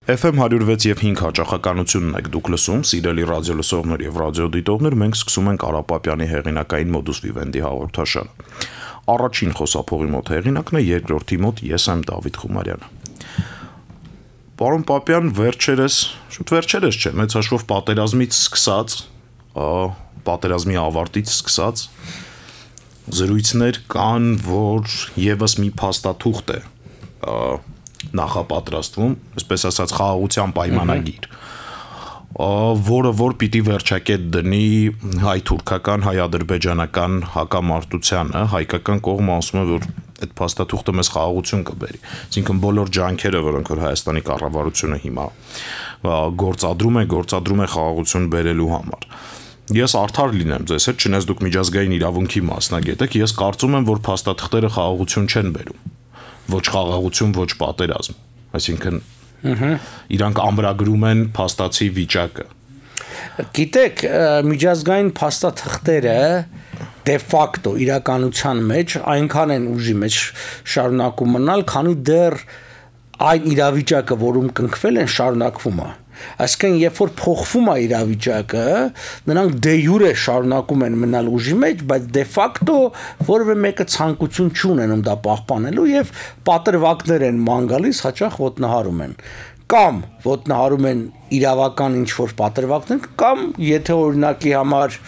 FM 106 եւ 5 հաճախականությունն եք դուք լսում, սիրելի ռադիոլսողներ եւ ռադիոդիտողներ, մենք սկսում ենք Արա Պապյանի հեղինակային Modus Vivendi հաղորդաշարը։ Առաջին խոսափողի մոտ հեղինակն է, երկրորդի մոտ ես եմ Դավիթ Խումարյանը։ Պարոն Պապյան, վերջերս չէ, մեծ հաշվով պատերազմից սկսած, պատերազմի ավարտից սկսած զրույցներ կան, որ եւս մի փաստաթուղթ է նախապատրաստվում, այսպես ասած խաղաղության պայմանագիր, որը որ պիտի վերջակետ դնի հայ-թուրքական, հայ-ադրբեջանական հակամարտությանը, հայկական կողմը ասում է, որ այդ փաստաթուղթը մեզ խաղաղություն կբերի։ Այսինքն բոլոր ջանքերը, որոնք որ Հայաստանի կառավարությունը հիմա գործադրում է խաղաղություն բերելու համար։ Ես արդար լինեմ ձեզ հետ, չնայած դուք միջազգային իրավունքի մասնագետ եք, ես կարծում եմ, որ փաստաթղթերը խաղաղություն չեն բերում։ Ոչ խաղաղություն, ոչ պատերազմ, այսինքն իրանք ամրագրում են փաստացի վիճակը։ Գիտեք, միջազգային փաստաթղթերը դե ֆակտո իրականության մեջ այնքան են ուժի մեջ շարունակում մնալ, քանի դեռ այն իրավիճակը, որում կնքվել են, շարունակվում է։ Այսինքն, երբ որ փոխվում է իրավիճակը, նրանք դե յուրե շարունակում են մնալ ուժի մեջ, բայց դե ֆակտո որևէ մեկը ցանկություն չունենում դա պահպանելու եւ պատրվակներ են ման գալիս, հաճախ ոտնահարում են։ Կամ ոտնահարում են իրավական ինչ-որ պատրվակներ, կամ եթե օրինակի համար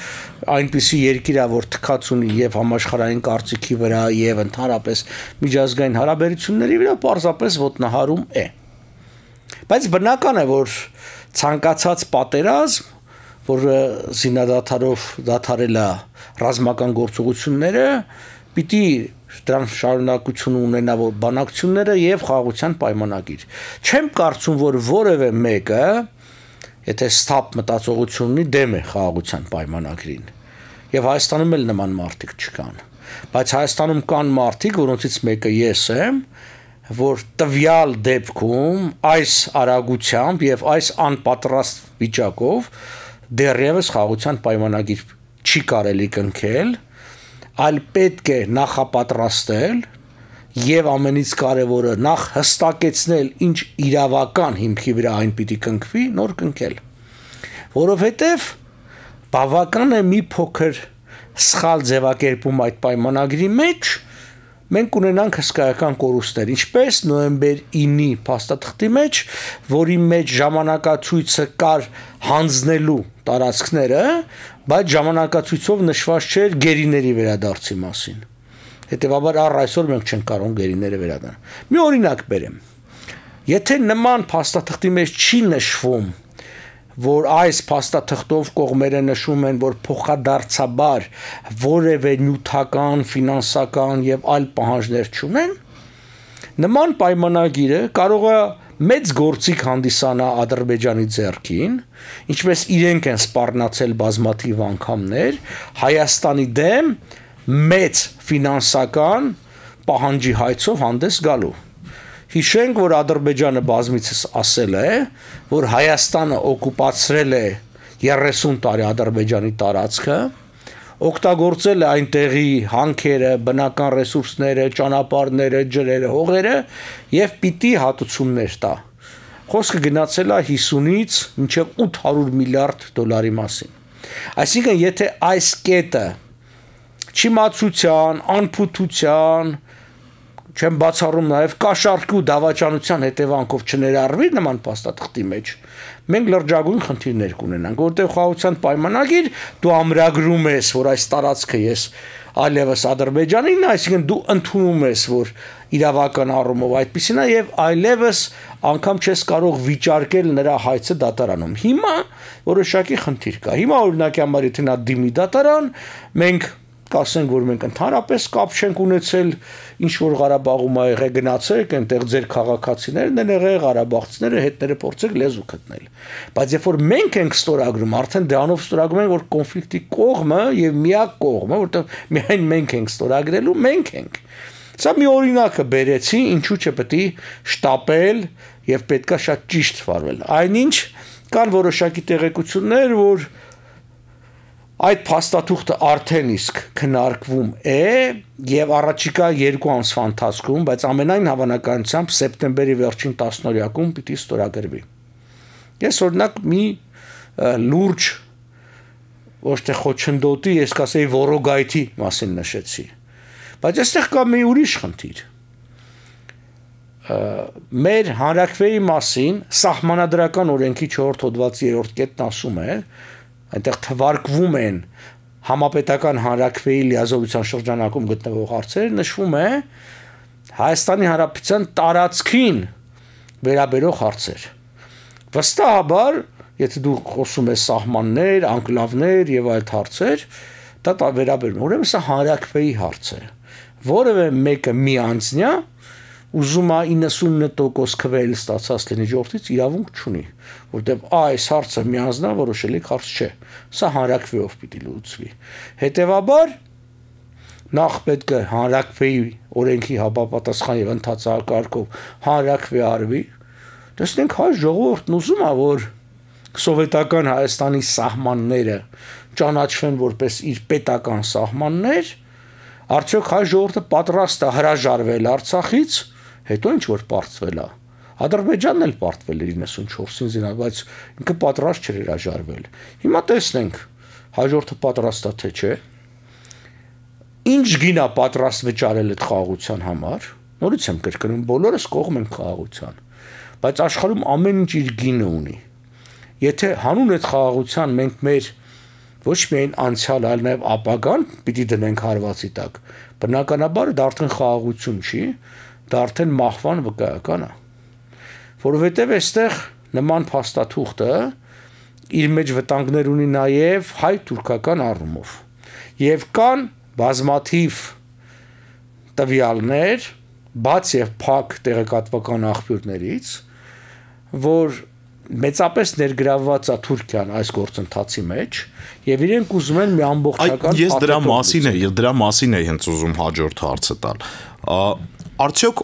այնպիսի երկիր է, որ թքած ունի եւ համաշխարհային կարծիքի վրա եւ ընդհանրապես միջազգային հարաբերությունների վրա, պարզապես ոտնահարում է։ Բայց բնական է, որ ցանկացած պատերազմ, որը զինադադարով դադարել է ռազմական գործողությունները, պիտի դրան շարունակություն ունենա որ բանակցությունները եւ խաղաղության պայմանագիր։ Չեմ կարծում, որ որևէ մեկը, եթե ստապ մտածողություն ունի, դեմ է խաղաղության պայմանագրին։ Եվ Հայաստանում էլ նման մարդիկ չկան։ Բայց Հայաստանում կան մարդիկ, որոնցից մեկը ես եմ, որ տվյալ դեպքում այս արագությամբ եւ այս անպատրաստ վիճակով դեռևս խաղաղության պայմանագիր չի կարելի կնքել, այլ պետք է նախապատրաստել եւ ամենից կարեւորը նախ հստակեցնել ինչ իրավական հիմքի վրա այն պիտի կնքվի, նոր կնքել, որովհետեւ բավական է մի փոքր սխալ ձևակերպում այդ պայմանագրի մեջ մենք ունենանք հսկայական կորուստներ, ինչպես նոյեմբեր 9-ի փաստաթղթի մեջ, որի մեջ ժամանակացույցը կար հանձնելու տարածքները, բայց ժամանակացույցով նշված չէր գերիների վերադարձի մասին։ Հետևաբար առ այսօր մենք չենք կարող գերիները վերադառնալ։ Մի օրինակ բերեմ։ Եթե նման փաստաթղթի մեջ չի նշվում, որ այս փաստաթղթով կողմերը նշում են, որ փոխադարձաբար որևէ նյութական, ֆինանսական եւ այլ պահանջներ չունեն, նման պայմանագիրը կարող է մեծ գործիք հանդիսանա Ադրբեջանի ձեռքին, ինչպես իրենք են սպառնացել բազմաթիվ անգամներ, Հայաստանի դեմ մեծ ֆինանսական պահանջի հայցով հանդես գալու։ Հիշենք, որ Ադրբեջանը բազմիցս ասել է, որ Հայաստանը օկուպացրել է 30 տարի Ադրբեջանի տարածքը, օգտագործել է այնտեղի հանքերը, բնական ռեսուրսները, ճանապարհները, ջրերը, հողերը եւ պիտի հատուցումներ տա։ Խոսքը գնացել է 50-ից մինչև 800 միլիարդ դոլարի մասին։ Այսինքն, եթե այս կետը չիմացության, անփութության, չեմ բացառում նաև կաշառքի ու դավաճանության հետևանքով չներառվի նման փաստաթղթի մեջ, մենք լրջագույն խնդիրներ կունենանք, որտեղ խաղաղության պայմանագիր դու ամրագրում ես, որ այս տարածքը ես այլևս Ադրբեջանին, այսինքն դու ընդունում ես, որ իրավական առումով այդպեսին է եւ այլևս անգամ չես կարող վիճարկել նրա հայցը դատարանում։ Հիմա որոշակի խնդիր կա։ Հիմա օրինակի համար եթե նա դիմի դատարան, մենք կասենք, որ մենք ընդհանրապես կապ չենք ունեցել, ինչ որ Ղարաբաղում ա եղել գնացեք, այնտեղ ձեր քաղաքացիներն են եղել, ղարաբաղցիները հետները փորձեք լեզու գտնել։ Բայց երբ որ մենք ենք ստորագրում, արդեն դրանով ստորագրում ենք, որ կոնֆլիկտի կողմը եւ միակ կողմը, որտեղ միայն մենք ենք ստորագրելու, մենք ենք։ Սա մի օրինակը բերեցի, ինչու՞ չպետք է շտապել եւ պետքա շատ ճիշտ վարվել։ Այնինչ կան որոշակի տեղեկություններ, որ այդ փաստաթուղթը արդեն իսկ քննարկվում է եւ առաջիկա 2 ամսվա ընթացքում, բայց ամենայն հավանականությամբ սեպտեմբերի վերջին 10-օրյակում պիտի ստորագրվի։ Ես օրինակ մի լուրջ ոչ թե խոչընդոտի, ես կասեի որոգայթի մասին նշեցի։ Բայց այստեղ կա մի ուրիշ խնդիր։ Մեր հանրաքվեի մասին սահմանադրական օրենքի 4 հոդվածի 3-րդ կետն ասում է, այնտեղ թվարկվում են համապետական հանրաքվեի լիազորության շրջանակում գտնվող հարցեր, նշվում է Հայաստանի Հանրապետության տարածքին վերաբերող հարցեր։ Վստահաբար, եթե դու խոսում ես սահմաններ, անկլավներ եւ այլ հարցեր, դա վերաբերում է։ Ուրեմն սա հանրաքվեի հարց է, որևէ մեկը մի անձնյա ուզում է 99% քվել ստացած լինի ժողովրդից իրավունք չունի, որտեղ այս հարցը մի անձնավորոշելի հարց չէ։ Սա հանրաքվեով պիտի լուծվի։ Հետևաբար նախ պետք է հանրաքվեի օրենքի համապատասխան եւ ընդհանրակարգով հանրաքվե արվի։ Տեսնենք հայ ժողովուրդն ուզում է, որ սովետական Հայաստանի սահմանները ճանաչվեն որպես իր պետական սահմաններ, արդյոք հայ ժողովուրդը պատրաստ է հրաժարվել Արցախից, հետո ինչ որ պարտվել է։ Ադրբեջանն էլ պարտվել էր 94-ին զինա, բայց ինքը պատրաստ չէր հրաժարվել։ Հիմա տեսնենք, հայ ժողովուրդը պատրաստ է թե չէ։ Ինչ գին է պատրաստ վճարել այդ խաղաղության համար։ Նորից եմ կրկնում, բոլորս կողմ են խաղաղության, բայց աշխարհում ամեն ինչ իր գինը ունի։ Եթե հանուն այդ խաղաղության մենք մեր ոչ միայն անցյալ, այլ նաև ապագան պիտի դնենք հարվածի տակ, բնականաբար դա արդեն խաղաղություն չի, դա արդեն մահվան վկայական է, որովհետև այստեղ նման փաստաթուղթը իր մեջ վտանգներ ունի նաև հայ-թուրքական առումով, եւ կան բազմաթիվ տվյալներ, բաց եւ փակ տեղեկատվական աղբյուրներից, որ մեծապես ներգրավված է Թուրքիան այս գործընթացի մեջ եւ իրենք ուզում են մի ամբողջական Ես դրա մասին եմ հենց ուզում հաջորդ հարցը տալ։ Արդյոք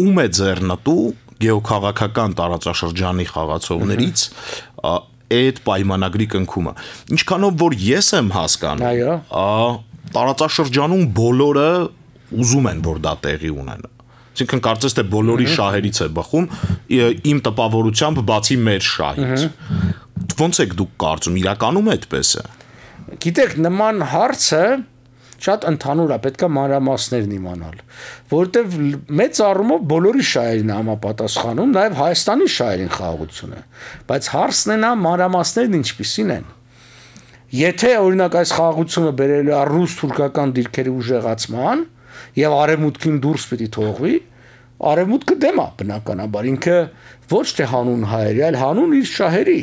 ում է ձեռնտու գեոքաղաքական տարածաշրջանի խաղացողներից այդ պայմանագրի կնքումը։ Ինչքանով որ ես եմ հասկանում, տարածաշրջանում բոլորը ուզում են որ դա տեղի ունենա։ Այսինքն կարծես թե բոլորի շահերից է բխում, իմ տպավորությամբ բացի մեր շահից։ Ոնց եք դուք կարծում, իրականում այդպես է։ Գիտեք, նման հարցը շատ ընդհանուր է, պետք է մանրամասներն իմանալ, որովհետև մեծ առումով բոլորի շահերին համապատասխանում, նաև Հայաստանի շահերին խաղաղությունը, բայց հարցն է նա մանրամասներն ինչպիսին են։ Եթե օրինակ այս խաղաղությունը բերելու է ռուս-թուրքական դիրքերի ուժեղացման եւ արևմուտքին դուրս պիտի թողվի, արևմուտքը դեմ է բնականաբար, ինքը ոչ թե հանուն հայերի, այլ հանուն իր շահերի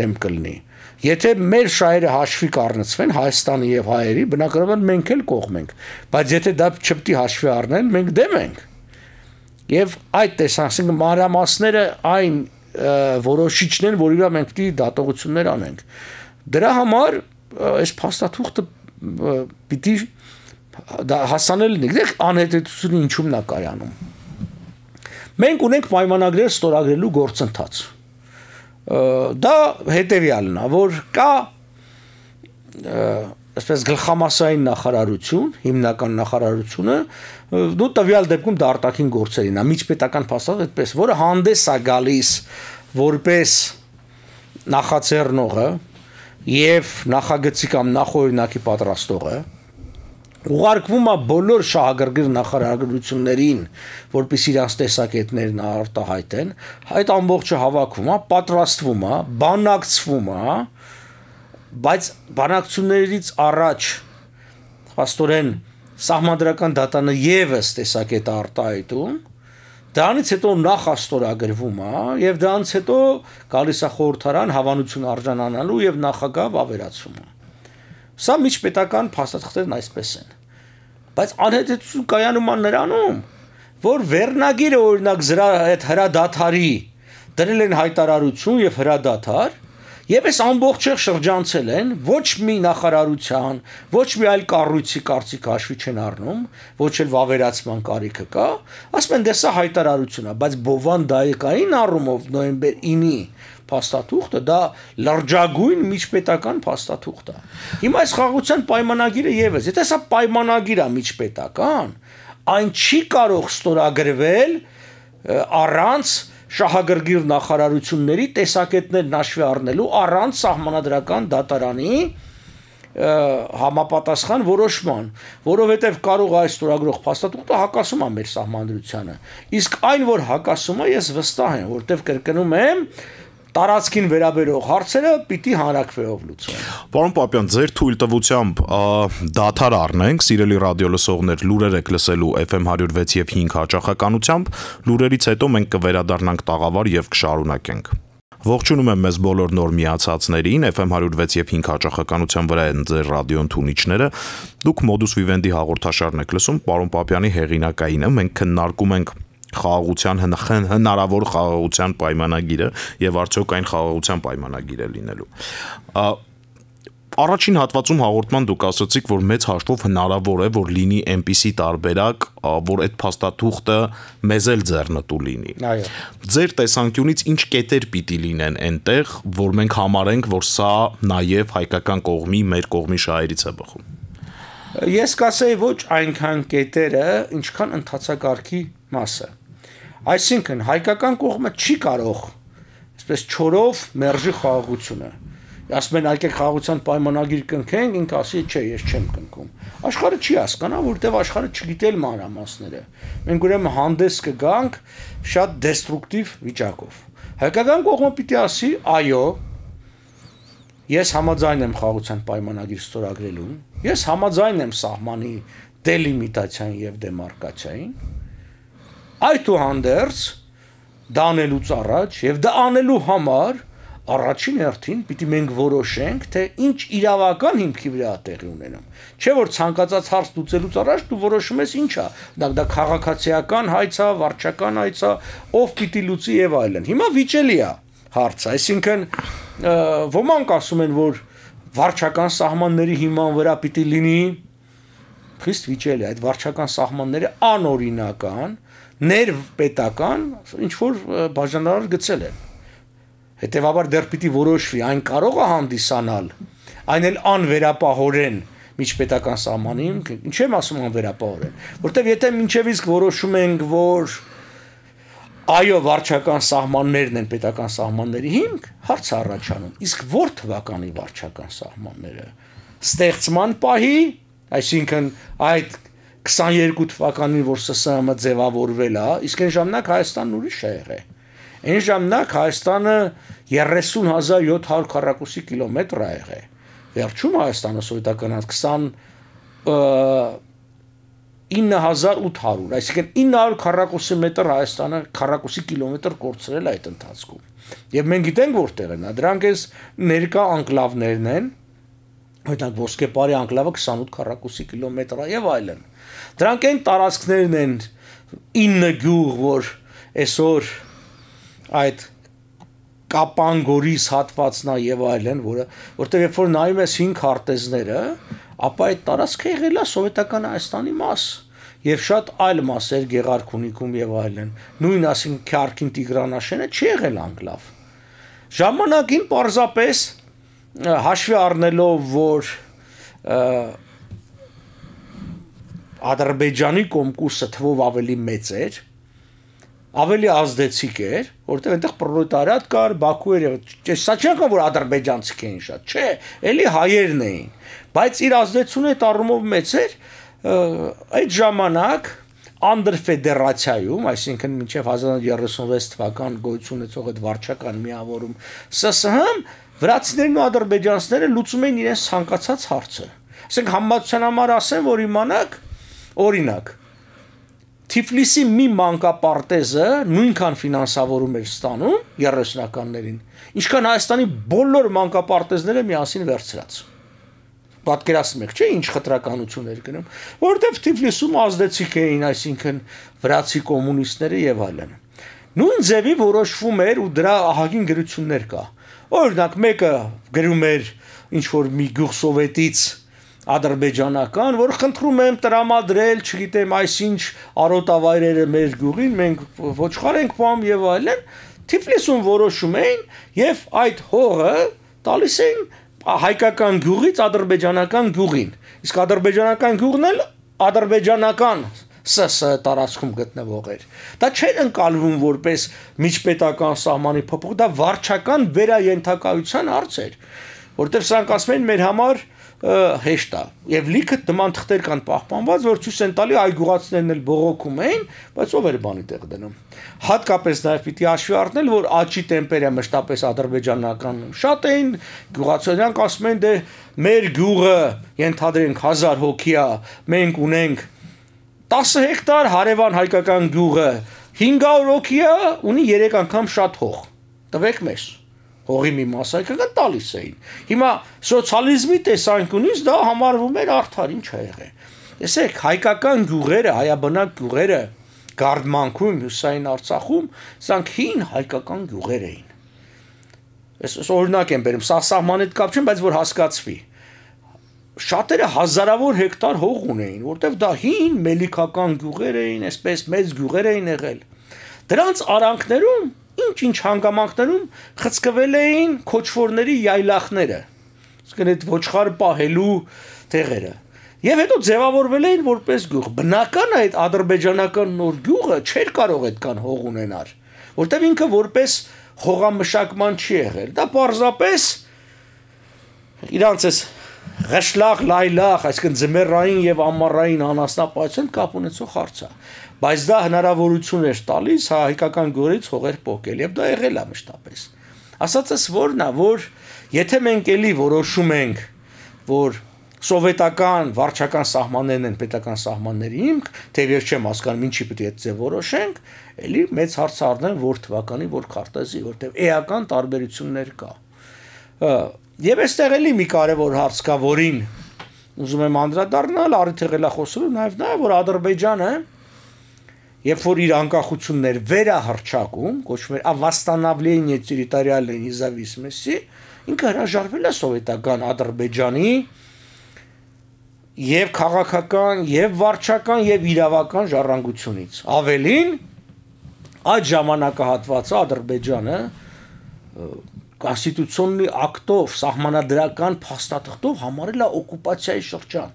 դեմ կլինի։ Եթե մեր շահերը հաշվի կառնցվեն Հայաստանի եւ հայերի, բնականաբար մենք էլ կողմ ենք, բայց եթե դա չպետք է հաշվի առնեն, մենք դեմ ենք։ Եվ այդ տեսանկյունից մանրամասները այն որոշիչն են, որ իրա մենք պիտի դատողություններ անենք։ Դրա համար այս փաստաթուղթը պիտի հասանել լինի։ Գիտեք, անհետեցությունը ինչու՞մն է կայանում։ Մենք ունենք պայմանագրեր ստորագրելու գործընթաց։ Դա հետևյալն է, որ կա այսպես գլխամասային նախարարություն, հիմնական նախարարությունը, դու տվյալ դեպքում դա արտաքին գործերին է, միջպետական փաստաթուղթ այդպես, որը հանդես է գալիս որպես նախաձեռնողը եւ նախագծի կամ նախօրինակի պատրաստողը, ուղարկվում է բոլոր շահագրգիռ նախարարություններին, որպեսզի իրանց տեսակետներն արտահայտեն, այդ ամբողջը հավաքվում է, պատրաստվում է, բանակցվում է, բայց բանակցություններից առաջ փաստորեն սահմանադրական դատանը եւս տեսակետ արտահայտում, դրանից հետո նախաստորագրվում է եւ դրանից հետո գալիս է խորհրդարան հավանություն արժանանալու եւ նախագահ ավերացումը։ Սա միջպետական փաստաթղթերն այսպես են։ Բայց անհետեցություն կայանում է նրանում, որ վերնագիրը օրինակ այդ հրադադարի դրել են հայտարարություն եւ հրադադար, եւ այս ամբողջը շրջանցել են, ոչ մի նախարարության, ոչ մի այլ կառույցի կարծիք հաշվի չեն առնում, ոչ էլ վավերացման կարիքը կա, ասում են դե սա հայտարարություն է, բայց բովանդայեկային առումով նոյեմբեր 9-ի փաստաթուղթը դա լրջագույն միջպետական փաստաթուղթ է։ Հիմա այս խաղաղության պայմանագիրը եւս, եթե սա պայմանագիր է միջպետական, այն չի կարող ստորագրվել առանց շահագրգիռ նախարարությունների տեսակետներ հաշվի առնելու, առանց սահմանադրական դատարանի համապատասխան որոշման, որովհետև կարող է ստորագրող փաստաթուղթը հակասում է մեր սահմանադրությանը։ Իսկ այն, որ հակասում է, ես վստահ եմ, որտեղ կրկնում եմ, տարածքին վերաբերող հարցերը պիտի հանրակրվեով լուծվեն։ Պարոն Պապյան, ձեր թույլտվությամբ դադար առնենք, սիրելի ռադիոլսողներ, լուրեր եք լսելու FM 106 եւ 5 հաճախականությամբ, լուրերից հետո մենք կվերադառնանք տաղավար եւ կշարունակենք։ Ողջունում եմ մեզ բոլոր նոր միացածներին, FM 106 եւ 5 հաճախականության վրա են ձեր ռադիոն թունիչները։ Դուք Modus Vivendi հաղորդաշարն եք լսում, պարոն Պապյանի հեղինակայինը, մենք քննարկում ենք խաղաղության հնարավոր խաղաղության պայմանագիրը եւ արդյոք այն խաղաղության պայմանագիր է լինելու։ Առաջին հատվածում հաղորդման դուք ասացիք, որ մեծ հաշվով հնարավոր է, որ լինի այնպիսի տարբերակ, որ այդ փաստաթուղթը մեզ էլ ձեռնտու լինի։ Այո։ Ձեր տեսանկյունից ինչ կետեր պիտի լինեն այնտեղ, որ մենք համարենք, որ սա նաեւ հայկական կողմի, մեր կողմի շահերից է բխում։ Ես կասեի ոչ այնքան կետերը, ինչքան ընթացակարգի մասը։ Այսինքն հայկական կողմը չի կարող այսպես չորով մերժի խաղաղությունը։ Ասում են եկեք խաղաղության պայմանագիր կնքենք, ինքը ասի չէ, ես չեմ կնքում։ Աշխարհը չի հասկանա, որտեղ աշխարհը չգիտի մանրամասները։ Մենք ուրեմն հանդես կգանք շատ դեստրուկտիվ վիճակով։ Հայկական կողմը պիտի ասի, այո, ես համաձայն եմ խաղաղության պայմանագիր ստորագրելուն, ես համաձայն եմ սահմանի դելիմիտացիային եւ դեմարկացիային։ Այդուհանդերձ դա անելուց առաջ եւ դա անելու համար առաջին հերթին պիտի մենք որոշենք, թե ինչ իրավական հիմքի վրա է տեղի ունենում։ Չէ՞ որ ցանկացած հարց լուծելուց առաջ դու որոշում ես ինչ է, դա քաղաքացիական հայց է, վարչական հայց է, ով պիտի լուծի եւ այլն։ Հիմա վիճելի է հարցը, այսինքն ոմանք ասում են, որ վարչական սահմանների հիման վրա պիտի լինի խիստ վիճելի է, այդ վարչական սահմանները անօրինական, ներպետական, ինչ որ բաժանարար գծել են։ Հետևաբար դեռ պիտի որոշվի, այն կարող է հանդիսանալ, այն էլ անվերապահորեն միջպետական սահմանին, ինչ եմ ասում անվերապահորեն, որտեվ եթե մինչև իսկ որոշում ենք, որ այո, վարչական սահմաններն են պետական սահմանների հիմք, հարց առաջանում, իսկ որ թվականի վարչական սահմանները, ստեղծման պահի, այսինքն այդ 22 թվականին, որ ՍՍՀՄ ձևավորվել է, իսկ այն ժամանակ Հայաստանն ուրիշ է եղել։ Այն ժամանակ Հայաստանը 30,700 քառակուսի կիլոմետր է եղել։ Վերջում Հայաստանը սովետականից 29,800, այսինքն 900 քառակուսի մետր Հայաստանը քառակուսի կիլոմետր կորցրել է այդ ընթացքում։ Եվ մենք գիտենք որտեղ են, դրանք էս ներկա անկլավներն են, օրինակ Ոսկեպարի անկլավը 28 քառակուսի կիլոմետր է եւ այլն։ Դրանք այն տարածքներն են 9 գյուղ, որ այսօր այդ Կապանգորիս հատվածն է եւ այլն, որտեղ երբ որ նայում ես 5 քարտեզները, ապա այդ տարածքը եղել է սովետական Հայաստանի մաս եւ շատ այլ մասեր Գեղարքունիքում եւ այլն։ Նույն ասին Քյարքին Տիգրանաշենը չի եղել անկլավ։ Ժամանակին պարզապես հաշվի առնելով, որ Ադրբեջանի կոմկուսը թվով ավելի մեծ էր, ավելի ազդեցիկ էր, որտեղ այնտեղ պրոլետարիատ կար, Բաքու էր, սա չի անգամ որ ադրբեջանցիք էին շատ, չէ, էլի հայերն էին, բայց իր ազդեցությունը այդ առումով մեծ էր, այդ ժամանակ անդրֆեդերացիայում, այսինքն մինչև 1936 թվական գոյություն ունեցող այդ վարչական միավորում ՍՍՀ-ն վրացիներն ու ադրբեջանցիները լուծում էին իրենց ցանկացած հարցը։ Ասենք համացան համար ասեն, որ իմանաք, օրինակ, Թիֆլիսի մի մանկապարտեզը նույնքան ֆինանսավորում էր ստանում 30-ականներին, ինչքան Հայաստանի բոլոր մանկապարտեզները միասին վերցրած։ Պատկերացնում եք, չէ՞, ինչ խտրականություն էր գնում, որովհետև Թիֆլիսում ազդեցիկ էին, այսինքն վրացի կոմունիստները եւ այլն։ Նույն ձևի որոշվում էր ու դրա ահագին գրություններ կա։ Օրինակ, մեկը գրում էր ինչ որ մի գյուղ սովետից ադրբեջանական, որ խնդրում եմ տրամադրել, չգիտեմ, այսինչ արոտավայրերը մեր գյուղին, մենք ոչխար ենք պահում եւ այլն, Թիֆլիսում որոշում էին եւ այդ հողը տալիս էին հայկական գյուղից ադրբեջանական գյուղին։ Իսկ ադրբեջանական գյուղն էլ ադրբեջանական ՍՍ տարածքում գտնվող էր։ Դա չէր ընկալվում որպես միջպետական սահմանի փոփոխ, դա վարչական վերաենթակայության հարց էր, որտեղ սրանք ասում են մեր համար հեշտ է եւ լիքը նման թղթեր կան պահպանված, որ ցույց են տալի այ գյուղացիներն էլ բողոքում էին, բայց ով էր բանի տեղ դնում։ Հատկապես նաեւ պիտի հաշվի առնել, որ աճի տեմպերը մշտապես ադրբեջանական շատ էին, գյուղացիներն ասում են դե մեր գյուղը ենթադրենք 1000 հոգի է, մենք ունենք 10 հեկտար, հարևան հայկական գյուղը 500 հոգի է, ունի 3 անգամ շատ հող։ Տվեք մեզ։ Հողի մի մասը հայկական տալիս էին։ Հիմա սոցիալիզմի տեսանկյունից դա համարվում էր արդար, ինչ ա եղել։ Տեսեք, հայկական գյուղերը, հայաբնակ գյուղերը Գարդմանքում, Հյուսային Արցախում, սրանք հին հայկական գյուղեր էին։ Այս օրինակ եմ բերում, սա սահմանի հետ կապ չեն, բայց որ հասկացվի։ Շատերը հազարավոր հեկտար հող ունեին, որտեղ դա հին մելիքական գյուղեր էին, այսպես մեծ գյուղեր էին եղել։ Դրանց արանքներում, ինչ հանգամանքներում խցկվել էին քոչվորների յայլախները, իսկ այդ ոչխար պահելու տեղերը։ Եվ հետո ձևավորվել էին որպես գյուղ։ Բնական է այդ ադրբեջանական նոր գյուղը չէր կարող այդքան հող ունենալ, որտեղ ինքը որպես հողամշակման չի եղել։ Դա պարզապես իրանց էս Ղշլախ, լայլախ, այսինքն ձմեռային եւ ամառային անասնապահության կապ ունեցող հարց է, բայց դա հնարավորություն էր տալիս հայկական գորից հողեր փոկել եւ դա եղել է մշտապես։ Ասածս որն է, որ եթե մենք էլի որոշում ենք, որ սովետական վարչական սահմաններն են պետական սահմանների հիմք, թեև ես չեմ հասկանում ինչի պետք է այդ ձև որոշենք, էլի մեծ հարց առնեն որ թվականի, որ քարտեզի, որտեղ էական տարբերություններ կա։ Եվ այստեղ էլի մի կարևոր հարց կա, որին ուզում եմ անդրադառնալ, առիթ եղել է խոսելու նաև նա, որ Ադրբեջանը, երբ որ իր անկախություններ վերահռչակում, կոչվում էր «Восстановление территориальной независимости», ինքը հրաժարվել է սովետական Ադրբեջանի եւ քաղաքական, եւ վարչական, եւ իրավական ժառանգությունից։ Ավելին, այդ ժամանակահատվածը Ադրբեջանը Կոնստիտուցիոննի ակտով, սահմանադրական փաստաթղթով համարել է օկուպացիայի շրջան։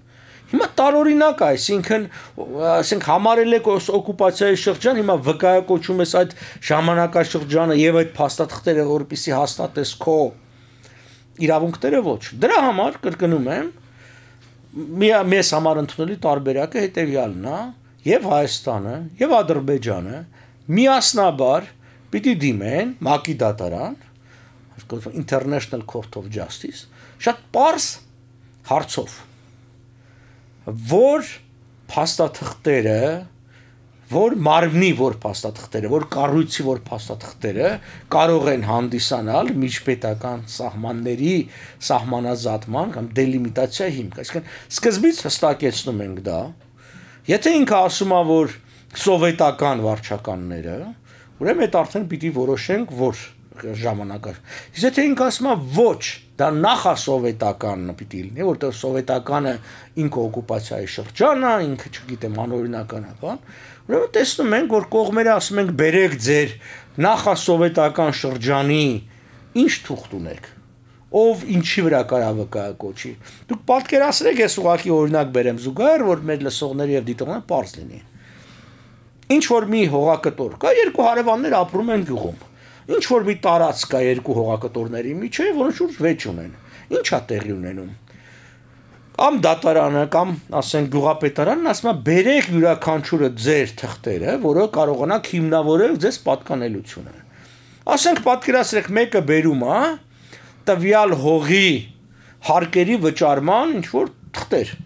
Հիմա տարօրինակ է, այսինքն համարել եք օկուպացիայի շրջան, հիմա վկայակոչում ես այդ ժամանակաշրջանը եւ այդ փաստաթղթերը, որպեսզի հաստատես քո իրավունքները ոչ։ Դրա համար կրկնում եմ, մեզ համար ընդունելի տարբերակը հետեւյալն է, եւ Հայաստանը, եւ Ադրբեջանը միասնաբար պիտի դիմեն ՄԱԿ-ի դատարան, International Court of Justice, շատ պարզ հարցով, որ փաստաթղթերը, որ մարմնի որ փաստաթղթերը, որ կառույցի որ փաստաթղթերը կարող են հանդիսանալ միջպետական սահմանների սահմանազատման կամ դելիմիտացիա հիմք, այսինքն սկզբից հստակեցնում ենք դա, եթե ինքը ասում է, որ սովետական վարչականները, ուրեմն այդ արդեն պիտի որոշենք, որ ժամանակը։ Իսկ եթե ինքը ասում է ոչ, դա նախասովետականն պիտի լինի, որտեղ սովետականը ինքը օկուպացիայի շրջան է, ինքը չգիտեմ անօրինական է, բան։ Ուրեմն տեսնում ենք, որ կողմերը ասում ենք բերեք ձեր նախասովետական շրջանի ինչ թուղթ ունեք, ով ինչի վրա կարա վկայակոչի։ Դուք պատկերացրեք, ես ուղղակի օրինակ բերեմ զուգահեռ, որ մեր լսողների եւ դիտողների պարզ լինի։ Ինչ որ մի հողակտոր կա, երկու հարևաններ ապրում են գյուղում։ Ինչ որ մի տարածք կա երկու հողակտորների միջև, որոնց շուրջ վեճ ունեն։ Ինչա տեղի ունենում։ Կամ դատարանը, կամ ասենք գյուղապետարանն ասում է բերեք յուրաքանչյուրը ձեր թղթերը, որը կարողանաք հիմնավորել ձեզ պատկանելությունը։ Ասենք պատկերացրեք մեկը բերում է տվյալ հողի հարկերի վճարման ինչ որ թղթեր։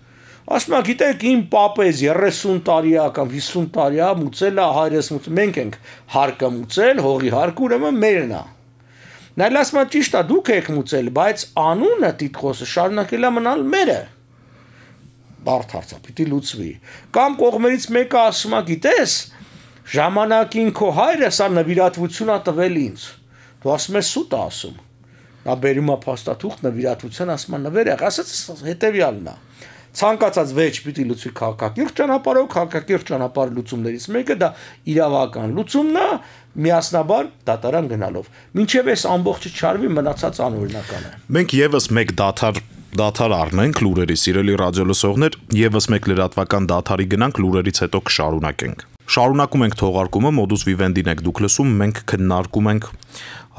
Ասում է գիտեք իմ պապեզ 30 տարի է կամ 50 տարի է մուծել է հայրս մուծել, մենք ենք հարկը մուծել, հողի հարկը ուրեմն մերն է։ Նա ասում է ճիշտ է, դուք եք մուծել, բայց անունը տիտղոսը շարունակել է մնալ մերը։ Բարդ հարց է, պիտի լուծվի։ Կամ կողմերից մեկը ասում է, գիտես, ժամանակին քո հայրը սա նվիրատվություն է տվել ինձ։ Դու ասում ես սուտ է ասում։ Նա բերում է փաստաթուղթ նվիրատվության, ասում է նվեր եղ, ասած հետեւյալն է։ Ցանկացած վեճ պիտի լուծվի քաղաքակիրթ ճանապարհով, քաղաքակիրթ ճանապարհ լուծումներից մեկը դա իրավական լուծումն է, միասնաբար դատարան գնալով։ Մինչև այս ամբողջը չարվի, մնացած անօրինական է։ Մենք եւս մեկ դաթար առնենք լուրերի, սիրելի ռադիոլսողներ, եւս մեկ լրատվական դաթարի գնանք, լուրերից հետո կշարունակենք։ Շարունակում ենք թողարկումը, Modus Vivendi-ն եք դուք լսում, մենք քննարկում ենք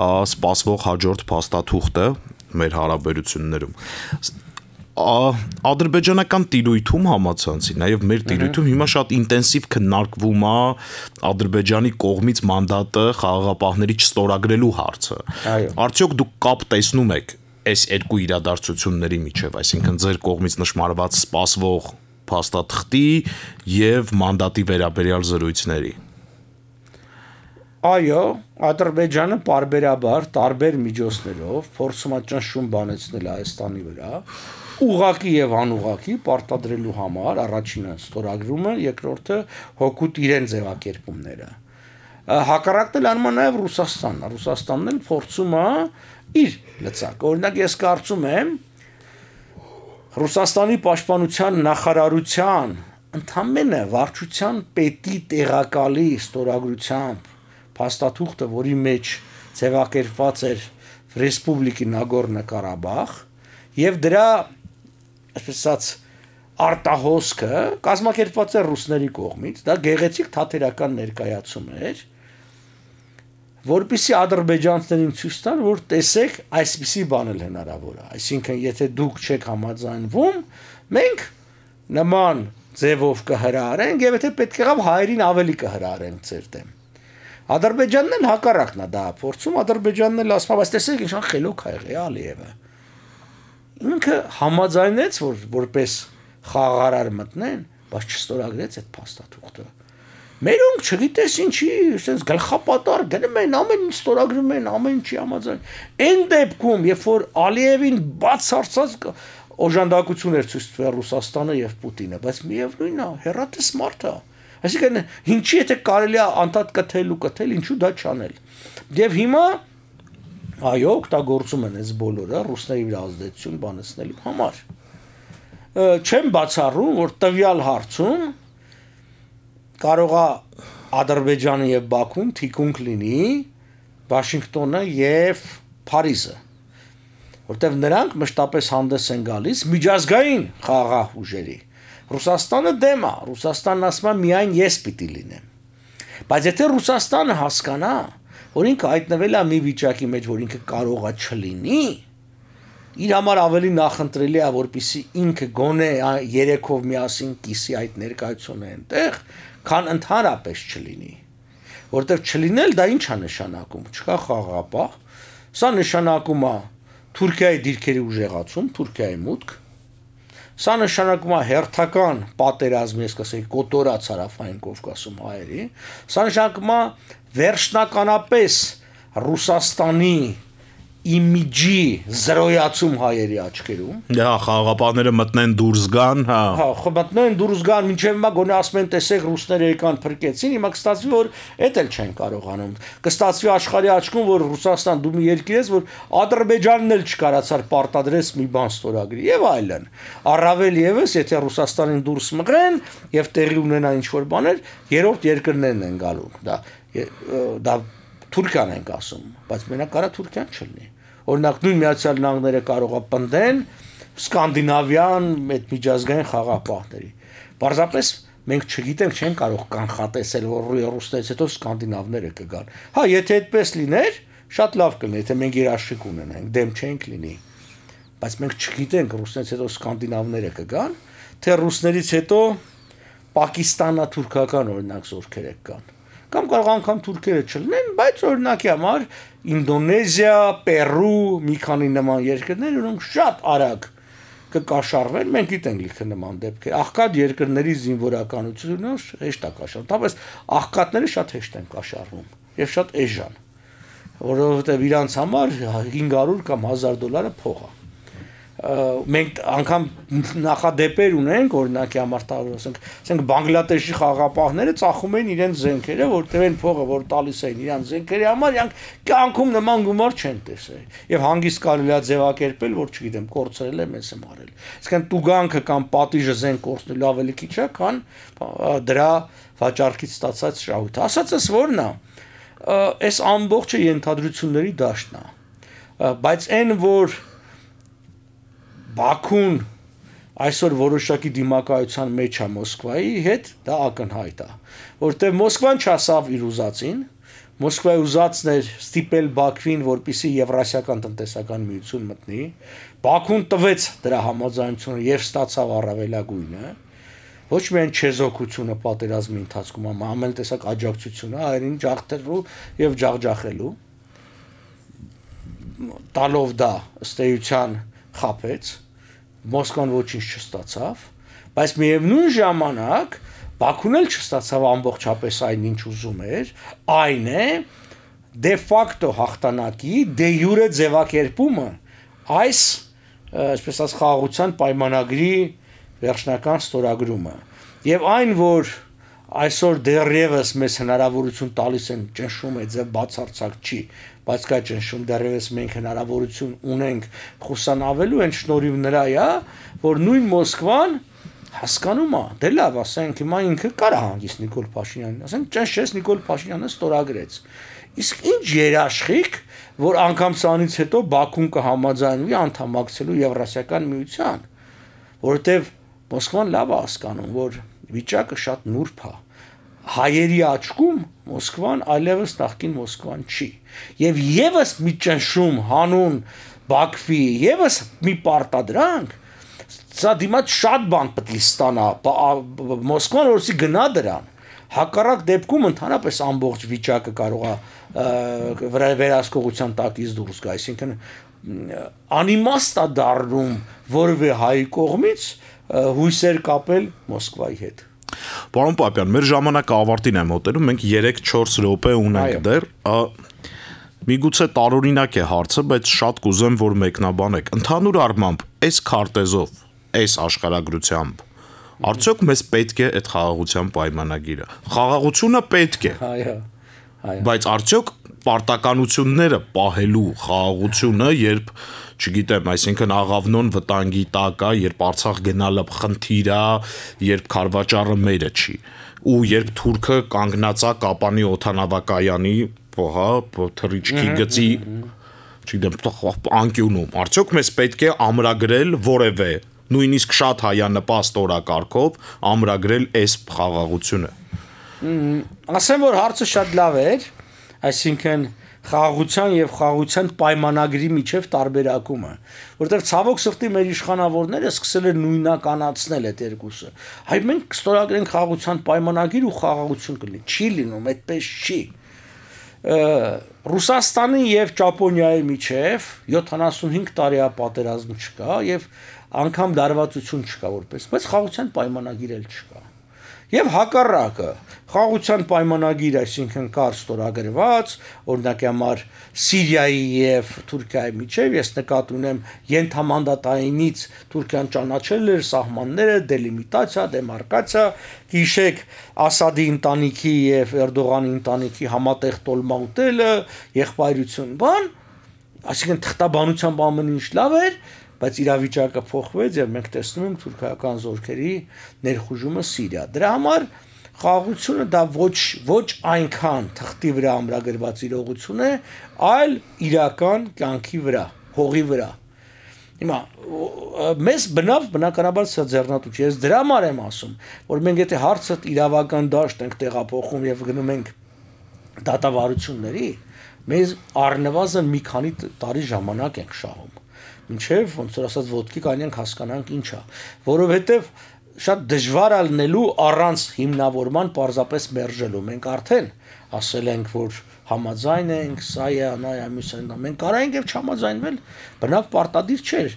սպասվող հաջորդ փաստաթուղթը մեր հարաբերություններում։ Ադրբեջանական տիրույթում համացանցի, նաև մեր տիրույթում հիմա շատ ինտենսիվ քննարկվում է Ադրբեջանի կողմից մանդատը խաղաղապահների չստորագրելու հարցը։ Արդյոք դուք կապ տեսնում եք այս երկու իրադարձությունների միջև, այսինքն ձեր կողմից նշмарված սպասվող փաստաթղթի եւ մանդատի վերաբերյալ զրույցների։ Այո, Ադրբեջանը պարբերաբար տարբեր միջոցներով փորձում է ճնշում բանեցնել Հայաստանի վրա, ուղղակի եւ անուղղակի պարտադրելու համար, առաջինը ստորագրումը, երկրորդը հօգուտ իրեն ձևակերպումները։ Հակառակն էլ անում է նաեւ Ռուսաստանն, Ռուսաստանն էլ փորձում է իր լծակ։ Օրինակ ես կարծում եմ Ռուսաստանի պաշտպանության նախարարության ընդամենը վարչության պետի տեղակալի ստորագրությամբ փաստաթուղթը, որի մեջ ձևակերպված էր Ռեսպուբլիկի Նագորնո Ղարաբաղ եւ դրա այսպես ասած արտահոսքը կազմակերպված էր ռուսների կողմից, դա գեղեցիկ թատերական ներկայացում էր, որպեսզի ադրբեջանցիներին ցույց տան, որ տեսեք, այսպիսի բան էլ հնարավոր է, այսինքն եթե դուք չեք համաձայնվում, մենք նման ձևով կհրահարենք եւ եթե պետք եղավ հայերին ավելի կհրահարենք ձեր դեմ։ Ադրբեջանն էլ հակառակն է դա փորձում, Ադրբեջանն էլ ասում է, բայց տեսեք ինչքան խելոք է եղել Ալիևը։ Ինքը համաձայնեց, որ որպես խաղաղարար մտնեն, բայց չստորագրեց այդ փաստաթուղթը։ Մերոնք չգիտես ինչի, ասես գլխապատար գնում են, ամեն ինչ ստորագրում են, ամեն ինչի համաձայն։ Այն դեպքում, երբ որ Ալիևին բացարձակ օժանդակություն էր ցույց տվել Ռուսաստանը եւ Պուտինը, բայց միևնույնն է, հերատես մարդ է։ Այսինքն ինչի եթե կարելի է անդադ կթել ու կթել, ինչու դա չանել։ Եվ հիմա այո, օգտագործում են այս բոլորը ռուսների վրա ազդեցություն բանեցնելու համար։ Չեմ բացառում, որ տվյալ հարցում կարող է Ադրբեջանը եւ Բաքուն թիկունք լինի Վաշինգտոնը եւ Փարիզը, որտեղ նրանք մշտապես հանդես են գալիս միջազգային խաղաղ ուժերի։ Ռուսաստանը դեմ է, Ռուսաստանն ասում է միայն ես պիտի լինեմ։ Բայց եթե Ռուսաստանը հասկանա, որ ինքը հայտնվել է մի վիճակի մեջ, որ ինքը կարող է չլինի, իր համար ավելի նախընտրելի է, որպեսզի ինքը գոնե երեքով միասին կիսի այդ ներկայությունը այնտեղ, քան ընդհանրապես չլինի։ Որտեղ չլինել դա ինչ է նշանակում, չկա խաղաղապահ, սա նշանակում է Թուրքիայի դիրքերի ուժեղացում, Թուրքիայի մուտք, սա նշանակում է հերթական պատերազմ, ես կասեի, կոտորած Հարավային Կովկասում հայերի, սա նշանակում է վերջնականապես Ռուսաստանի իմիջի զրոյացում հայերի աչքերում։ Հա, խաղաղապահները մտնեն դուրս գան, հա։ Հա, մտնեն դուրս գան, մինչև հիմա գոնե ասում են, տեսեք, ռուսները եկան փրկեցին, հիմա կստացվի, որ էդ էլ չեն կարողանում։ Կստացվի աշխարհի աչքում, որ Ռուսաստան դու մի երկիր ես, որ Ադրբեջանն էլ չկարացար պարտադրես մի բան ստորագրի եւ այլն։ Առավել եւս, եթե Ռուսաստանին դուրս մղեն եւ տեղի ունենա ինչ-որ բաներ, երրորդ երկրներն են գալու։ Դա Թուրքիան ենք ասում, բայց մենակ կարա Թուրքիան չլինի։ Օրինակ նույն Միացյալ Նահանգները կարող է պնդեն սկանդինավյան այդ միջազգային խաղաղապահների։ Պարզապես մենք չգիտենք, չեն կարող կանխատեսել, որ ռուսներից հետո սկանդինավները կգան։ Հա, եթե այդպես լիներ, շատ լավ կլինի, եթե մենք երաշխիք ունենանք, դեմ չենք լինի։ Բայց մենք չգիտենք ռուսներից հետո սկանդինավները կգան, թե ռուսներից հետո պակիստանա-թուրքական օրինակ զորքեր կգան։ Կամ կարող անգամ թուրքերը չլինեն, բայց օրինակի համար Ինդոնեզիա, Պերու, մի քանի նման երկրներ, որոնք շատ արագ կկաշառվեն, մենք գիտենք լիքը նման դեպքեր։ Աղքատ երկրների զինվորականությունը հեշտ է կաշառվում, բայց աղքատները շատ հեշտ են կաշառվում եւ շատ էժան, որովհետեւ իրանց համար 500 կամ $1000 փող է։ Մենք անգամ նախադեպեր ունենք, օրինակի համար ասենք Բանգլադեշի խաղաղապահները ծախում են իրենց զենքերը, որտեղ են փողը, որ տալիս էին իրենց զենքերի համար, իրանք կյանքում նման գումար չեն տեսել։ Եվ հանգիստ կարելի է ձևակերպել, որ չգիտեմ, կորցրել է, մեզ եմ արել։ Իսկան տուգանքը կամ պատիժը զենք կորցնելու ավելի քիչ է, քան դրա վաճառքից ստացած շահույթը։ Ասածս որն է, այս ամբողջը ենթադրությունների դաշտն է, բայց այն որ Բաքուն այսօր որոշակի դիմակայության մեջ է Մոսկվայի հետ, դա ակնհայտ է, որտեղ Մոսկվան չասավ իր ուզածին, Մոսկվայի ուզածն էր ստիպել Բաքվին, որպեսզի Եվրասիական տնտեսական միություն մտնի, Բաքուն տվեց դրա համաձայնությունը եւ ստացավ առավելագույնը, ոչ միայն չեզոքությունը պատերազմի ընթացքում, ամեն տեսակ աջակցությունը, այլին ջախտելու եւ ջախջախելու, տալով դա ըստ էության խափեց, Մոսկվան ոչինչ չստացավ, բայց միևնույն ժամանակ Բաքուն էլ չստացավ ամբողջապես այն ինչ ուզում էր, այն է դե ֆակտո հաղթանակի դե յուրե ձևակերպումը այս այսպես ասած խաղաղության պայմանագրի վերջնական ստորագրումը եւ այն որ այսօր դեռևս մեզ հնարավորություն տալիս են ճնշում է ձև բացարձակ չի բայց կա ճնշում դեռևս մենք հնարավորություն ունենք խուսանավելու այն շնորհիվ նրա է որ նույն Մոսկվան հասկանում է դե լավ ասենք հիմա ինքը կարա հանգիստ Նիկոլ Փաշինյանին ասենք ճնշեց Նիկոլ Փաշինյանը ստորագրեց իսկ ինչ երաշխիք որ անգամ սրանից հետո Բաքուն կհամաձայնվի անդամակցելու Եվրասիական միության որովհետեւ Մոսկվան լավ է հասկանում, որ վիճակը շատ նուրբ է։ Հայերի աչքում Մոսկվան այլևս նախկին Մոսկվան չի։ Եվ եւս մի ճնշում հանուն Բաքվի, եւս մի պարտադրանք, սա դիմաց շատ բան պետք է ստանա Մոսկվան որսի գնա դրան։ Հակառակ դեպքում ընդհանրապես ամբողջ վիճակը կարող է վերահսկողության տակից դուրս գա, այսինքն անիմաստ է դառնում որևէ հայ կողմից հույսեր կապել Մոսկվայի հետ։ Պարոն Պապյան, մեր ժամանակը ավարտին է մոտենում, մենք 3-4 րոպե ունենք դեռ, միգուցե տարօրինակ է հարցը, բայց շատ կուզեմ, որ մեկնաբանեք։ Ընդհանուր առմամբ, այս քարտեզով, այս աշխարհագրությամբ, արդյոք մեզ պետք է այդ խաղաղության պայմանագիրը։ Խաղաղությունը պետք է։ Այո։ Բայց արդյոք պարտականությունները պահելու խաղաղությունը, երբ, չգիտեմ, այսինքն աղավնոն վտանգի տակ է, երբ Արցախ գնալը խնդիր է, երբ Քարվաճառը մերը չի, ու երբ Թուրքը կանգնած է Կապանի օդանավակայանի, թռիչքի գծի, չգիտեմ, անկյունում, արդյոք մեզ պետք է ամրագրել որևէ, նույնիսկ շատ հայանպաստ օրակարգով ամրագրել այս խաղաղությունը։ Ասեմ, որ հարցը շատ լավ էր, այսինքն խաղաղության եւ խաղաղության պայմանագրի միջև տարբերակումը, որտեղ ցավոք սրտի մեր իշխանավորները սկսել են նույնականացնել այդ երկուսը։ Հայ մենք ստորագրենք խաղաղության պայմանագիր ու խաղաղություն կլինի, չի լինում, այդպես չի։ Ռուսաստանի եւ Ճապոնիայի միջև 75 տարի է պատերազմ չկա եւ անգամ դարվածություն չկա որպես, բայց խաղաղության պայմանագիր էլ չկա։ Եվ հակառակը, խաղաղության պայմանագիր, այսինքն կար ստորագրված, օրինակ համար Սիրիայի եւ Թուրքիայի միջև, ես նկատի ունեմ ենթամանդատայինից Թուրքիան ճանաչել էր սահմանները, դելիմիտացիա, դեմարկացիա, հիշեք Ասադի ընտանիքի եւ Էրդողանի ընտանիքի համատեղ տոլմա ուտելը, եղբայրություն, բան, այսինքն թղթաբանությամբ ամեն ինչ լավ էր, բայց իրավիճակը փոխվեց եւ մենք տեսնում ենք թուրքական զորքերի ներխուժումը Սիրիա։ Դրա համար խաղաղությունը դա ոչ այնքան թղթի վրա ամրագրված իրողություն է, այլ իրական կյանքի վրա, հողի վրա։ Հիմա մեզ բնականաբար սա ձեռնատու չի։ Ես դրա համար եմ ասում, որ մենք եթե հարցը իրավական դաշտ ենք տեղափոխում եւ գնում ենք դատավարությունների, մեզ առնվազն մի քանի տարի ժամանակ ենք շահում։ Մինչև ոնց որ ասած ոտքի կանենք հասկանանք ինչ է, որովհետև շատ դժվար է լինելու առանց հիմնավորման պարզապես մերժելու։ Մենք արդեն ասել ենք, որ համաձայն ենք, սա է, նա է, մյուսը, մենք կարայինք եւ չհամաձայնվել, բնավ պարտադիր չէր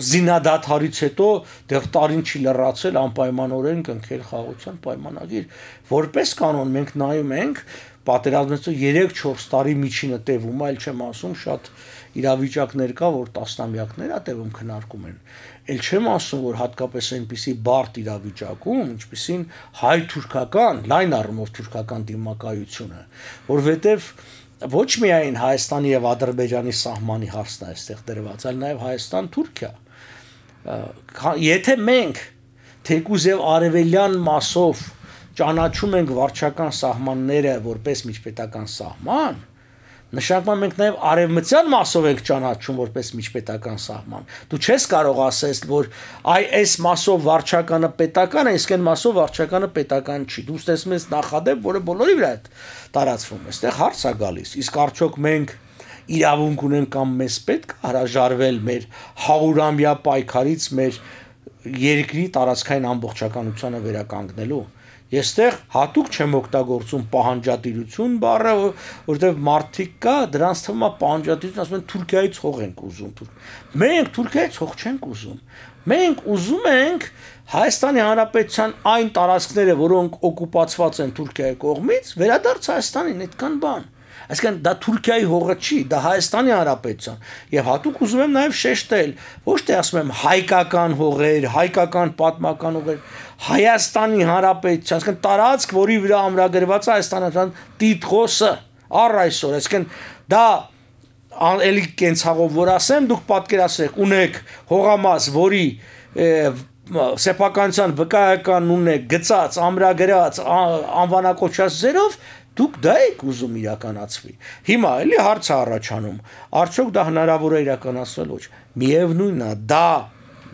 զինադադարից հետո դեռ տարին չի լրացել անպայմանորեն կնքել խաղաղության պայմանագիր։ Որպես կանոն մենք նայում ենք պատերազմից 3-4 տարի միջինը տևում, այլ չեմ ասում շատ իրավիճակներ կա, որ տասնամյակներ է տևում քննարկում են։ Էլ չեմ ասում, որ հատկապես այնպիսի բարդ իրավիճակում, ինչպիսին հայ-թուրքական, լայն առումով թուրքական դիմակայությունը, որովհետև ոչ միայն Հայաստանի եւ Ադրբեջանի սահմանի հարցն է այստեղ դրված, այլ նաեւ Հայաստան-Թուրքիա։ Եթե մենք թեկուզ եւ արևելյան մասով ճանաչում ենք վարչական սահմանները որպես միջպետական սահման, նշանակում մենք նաև արևմտյան մասով ենք ճանաչում որպես միջպետական սահման։ Դու չես կարող ասես, որ այս մասով վարչականը պետական է, իսկ այն մասով վարչականը պետական չի։ Դու ստեսում ես նախադեպ, որը բոլորի վրա է տարածվում։ Այստեղ հարց է գալիս, իսկ արդյոք մենք իրավունք ունենք կամ մեզ պետք է հրաժարվել մեր 100-ամյա պայքարից մեր երկրի տարածքային ամբողջականությանը վերականգնելու։ Ես այդտեղ հատուկ չեմ օգտագործում պահանջատիրություն բառը, որովհետև մարդիկ կա, դրանց թվում է պահանջատիրություն, ասում են Թուրքիայից հող ենք ուզում։ Մենք Թուրքիայից հող չենք ուզում։ Մենք ուզում ենք Հայաստանի Հանրապետության այն տարածքները, որոնք օկուպացված են Թուրքիայի կողմից, վերադարձ Հայաստանին, այդքան բան։ Այսինքն դա Թուրքիայի հողը չի, դա Հայաստանի Հանրապետության։ Եվ հատուկ ուզում եմ նաև շեշտել, ոչ թե ասում եմ հայկական հողեր, հայկական պատմական հողեր, Հայաստանի Հանրապետության, այսինքն տարածք, որի վրա ամրագրված է Հայաստանյան տիտղոսը, առ այսօր, այսինքն դա էլի կենցաղով որ ասեմ, դուք պատկերացրեք, ունեք հողամաս, որի սեփականության վկայական ունեք գծած, ամրագրած, անվանակոչած ձերով, դուք դա եք ուզում իրականացվի։ Հիմա էլի հարց է առաջանում, արդյոք դա հնարավոր է իրականացնել ոչ։ Միևնույնն է, դա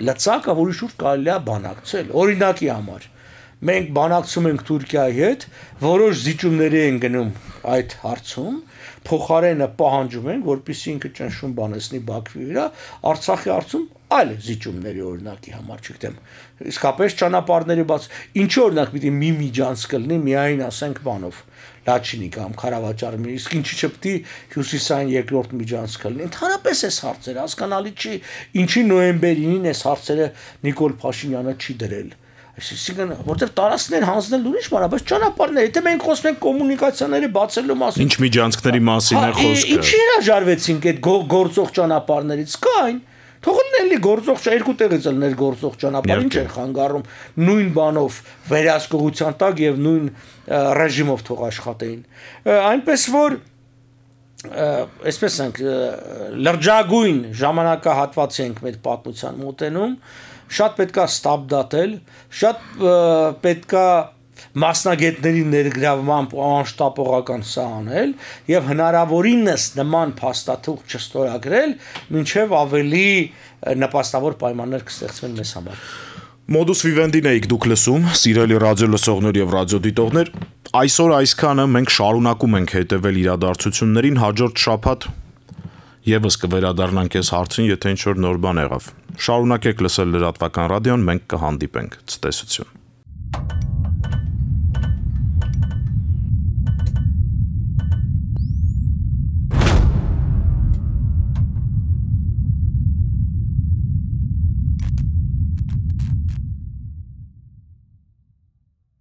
լծակը, որի շուրջ կարելի է բանակցել։ Օրինակի համար, մենք բանակցում ենք Թուրքիայի հետ, որոշ զիջումների են գնում այդ հարցում, փոխարենը պահանջում են, որպեսզի ինքը ճնշում բանեցնի Բաքվի վրա, Արցախի հարցում այլ զիջումների օրինակի համար, չգիտեմ, իսկապես ճանապարհների բաց, ինչ օրինակ պիտի մի միջանցք լինի, միայն ասենք բանով, Լաչինի կամ Խարավաճարի, իսկ ինչի չպետք է հյուսիսային երկրորդ միջանցքը լինի։ Ընդհանրապես այս հարցերը հասկանալի չի, ինչի նոյեմբերին այս հարցերը Նիկոլ Փաշինյանը չի դրել։ Այսինքն, որտեղ տարածքներ հանձնել ուրիշ բան է, բայց ճանապարհներ, եթե մենք խոսում ենք կոմունիկացիաների բացելու մասին, ինչ միջանցքների մասին է խոսքը։ Ինչի հրաժարվեցինք այդ գործող ճանապարհներից, կային։ Թողել էլի գործող երկու տեղից ելներ գործող ճանապարհ, ինչ են խանգարում նույն բանով վերահսկողության տակ եւ նույն ռեժիմով թող աշխատեին։ Այնպես որ այսպես ենք լրջագույն ժամանակահատվածի ենք մեր պատմության մոտենում, շատ պետքա ստապ դատել, շատ պետքա մասնագետների ներգրավմամբ անշտապողական սա անել եւ հնարավորինս նման փաստաթուղթ չստորագրել, մինչեւ ավելի նպաստավոր պայմաններ կստեղծվեն մեզ համար։ Modus vivendi-ն եք դուք լսում, սիրելի ռադիո լսողներ եւ ռադիոդիտողներ, այսօր այսքանը մենք շարունակում ենք հետեւել իրադարձություններին, հաջորդ շաբաթ եւս կվերադառնանք այս հարցին, եթե ինչ-որ նոր բան եղավ։ Շարունակեք լսել լրատվական ռադիոն, մենք կհանդիպենք։ Ցտեսություն։